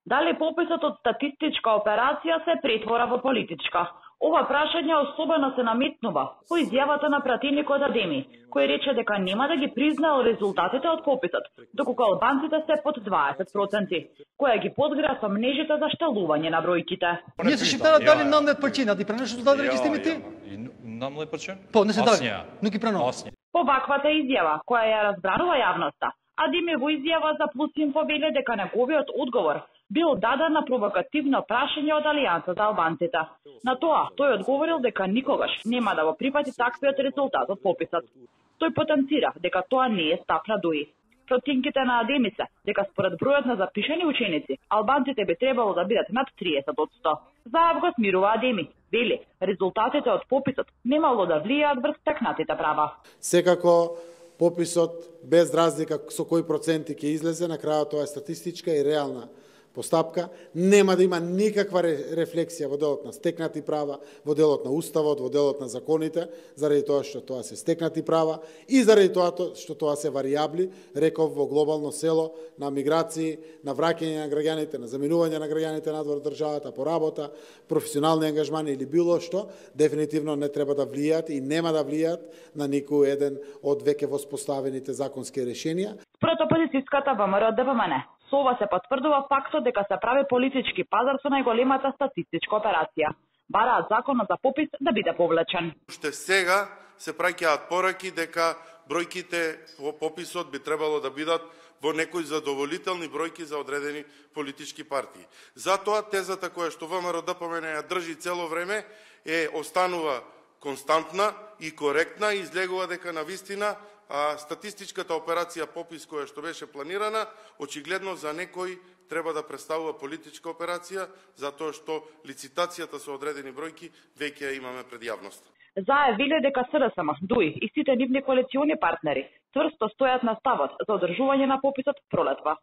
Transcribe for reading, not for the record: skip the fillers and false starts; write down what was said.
Дали пописот од статистичка операција се претвора во политичка? Ова прашање особено се наметнува по изјавата на пратеникот Адеми, кој рече дека нема да ги признаел резултатите од пописот, доколку албанците се под 20%, која ги подгра со мнежите за шталување на бројките. Ние се шиптарат дали намлет причина, ти пренешто дали регистримите? Намлет причина? Не се дали, но ги пренува. По ваквата изјава, која ја разбранува јавноста, Адеми во изјава за Плюс Инфо веле дека неговиот одговор бил даден на провокативно прашање од Алијанса за албанците. На тоа, тој одговорил дека никогаш нема да го прифати таквиот резултат од пописот. Тој потенцира дека тоа не е стап на ДУИ. Проценките на Адеми се дека според бројот на запишани ученици, албанците би требало да бидат над 30%. Заев го смирува Адеми. Вели, резултатите од пописот немало да влијаат врз стекнатите права. Секако пописот без разлика со кои проценти ќе излезе, на крајот тоа е статистичка и реална постапка, нема да има никаква рефлексија во делот на стекнати права, во делот на уставот, во делот на законите, заради тоа што тоа се стекнати права и заради тоа што тоа се варијабли, реков, во глобално село на миграции, на враќање на граѓаните, на заминување на граѓаните надвор државата, по работа, професионални ангажмани или било што, дефинитивно не треба да влијаат и нема да влијаат на никој еден од веќе воспоставените законски решенија. Според опозицијската ВМРО ДПМН, со ова се потврдува фактот дека се прави политички пазар со најголемата статистичка операција. Бараат законот за попис да биде повлечен. Уште сега се праќаат пораки дека бројките по пописот би требало да бидат во некои задоволителни бројки за одредени политички партии. Затоа тезата која што ВМРО ДПМН ја држи цело време останува константна и коректна и излегува дека навистина статистичката операција попис која што беше планирана, очигледно за некој треба да представува политичка операција, затоа што лицитацијата со одредени бројки веќе ја имаме пред јавноста. Заев веле дека СДСМ, ДУИ и сите нивни коалициони партнери цврсто стојат на ставот за одржување на пописот пролетва.